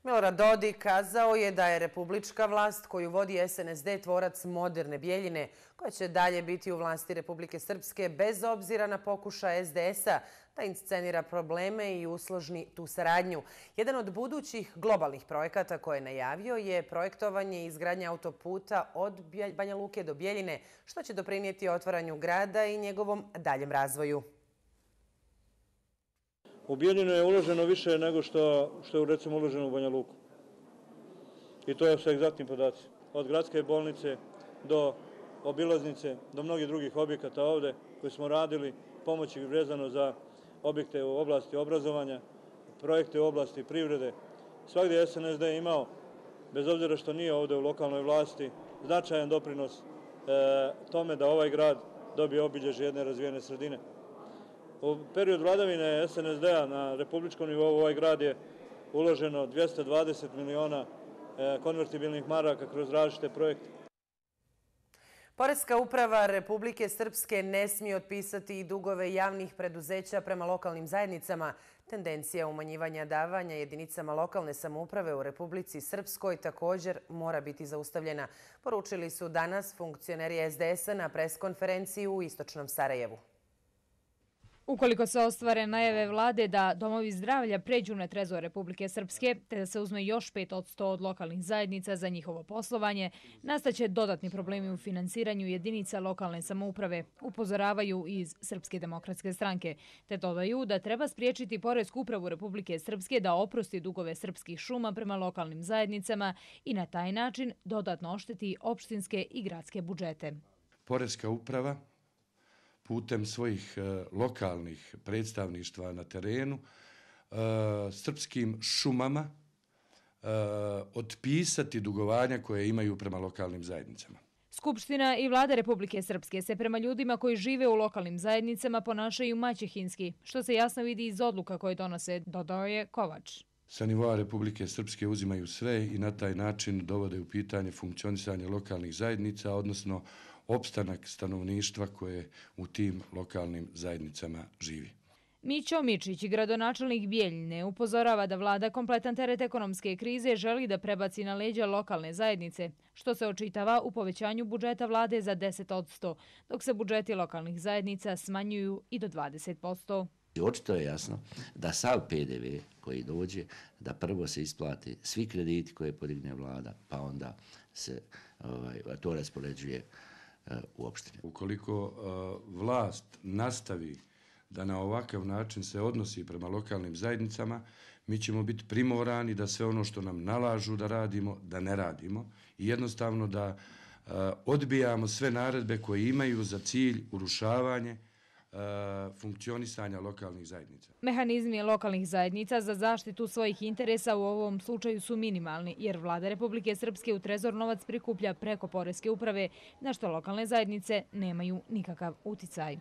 Milorad Dodik kazao je da je republička vlast koju vodi SNSD tvorac moderne Bijeljine, koja će dalje biti u vlasti Republike Srpske bez obzira na pokušaj SDS-a da inscenira probleme i usložni tu saradnju. Jedan od budućih globalnih projekata koje je najavio je projektovanje i izgradnja autoputa od Banja Luke do Bijeljine, što će doprinijeti otvaranju grada i njegovom daljem razvoju. U Bijeljinu je uloženo više nego što je recimo uloženo u Banja Luku. I to je sa egzaktnim podacima. Od gradske bolnice do obilaznice, do mnogih drugih objekata ovde koje smo radili, pomoći vezano za objekte u oblasti obrazovanja, projekte u oblasti privrede. Svagdje je SNSD imao, bez obzira što nije ovde u lokalnoj vlasti, značajan doprinos tome da ovaj grad dobije obilježje jedne razvijene sredine. U periodu vladavine SNSD-a na republičkom nivou ovaj grad je uloženo 220 miliona konvertibilnih maraka kroz različite projekte. Poreska uprava Republike Srpske ne smije otpisati i dugove javnih preduzeća prema lokalnim zajednicama. Tendencija umanjivanja davanja jedinicama lokalne samouprave u Republici Srpskoj također mora biti zaustavljena, poručili su danas funkcioneri SDS-a na preskonferenciji u Istočnom Sarajevu. Ukoliko se ostvare najave vlade da domovi zdravlja pređu na trezor Republike Srpske, te da se uzme još 5% od lokalnih zajednica za njihovo poslovanje, nastaće dodatni problemi u finansiranju jedinica lokalne samouprave, upozoravaju iz Srpske demokratske stranke, te dodaju da treba spriječiti Poresku upravu Republike Srpske da oprosti dugove srpskih šuma prema lokalnim zajednicama i na taj način dodatno ošteti opštinske i gradske budžete. Poreska uprava putem svojih lokalnih predstavništva na terenu, srpskim šumama otpisati dugovanja koje imaju prema lokalnim zajednicama. Skupština i vlada Republike Srpske se prema ljudima koji žive u lokalnim zajednicama ponašaju maćehinski, što se jasno vidi iz odluka koje donose, dodao je Kovač. Sa nivoa Republike Srpske uzimaju sve i na taj način dovode u pitanje funkcionisanje lokalnih zajednica, odnosno opstanak stanovništva koje u tim lokalnim zajednicama živi. Mićo Mičić, gradonačelnik Bijeljine, upozorava da vlada kompletan teret ekonomske krize želi da prebaci na leđa lokalne zajednice, što se očitava u povećanju budžeta vlade za 10%, dok se budžeti lokalnih zajednica smanjuju i do 20%. Očito je jasno da sav PDV koji dođe, da prvo se isplati svi krediti koje podigne vlada, pa onda se to raspoređuje u opštine. Ukoliko vlast nastavi da na ovakav način se odnosi prema lokalnim zajednicama, mi ćemo biti primorani da sve ono što nam nalažu da radimo, da ne radimo i jednostavno da odbijamo sve naredbe koje imaju za cilj urušavanje funkcionisanja lokalnih zajednica. Mehanizmi lokalnih zajednica za zaštitu svojih interesa u ovom slučaju su minimalni, jer vlada Republike Srpske u trezor novac prikuplja preko Poreske uprave, na što lokalne zajednice nemaju nikakav uticaj.